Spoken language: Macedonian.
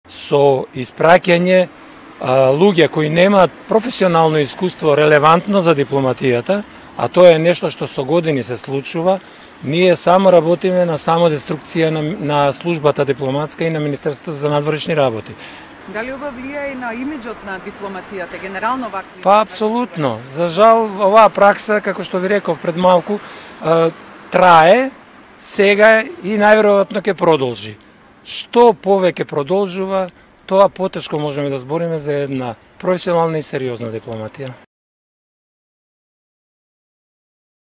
со испраќање луѓе кои немаат професионално искуство релевантно за дипломатијата, а тоа е нешто што со години се случува. Ние само работиме на самодеструкција на службата дипломатска и на Министерството за надворешни работи. Дали ова влијае и на имиџот на дипломатијата, генерално вакви? Па апсолутно. За жал, оваа пракса, како што ви реков пред малку, трае сега и најверојатно ќе продолжи. Што повеќе продолжува, тоа потешко можеме да збориме за една професионална и сериозна дипломатија.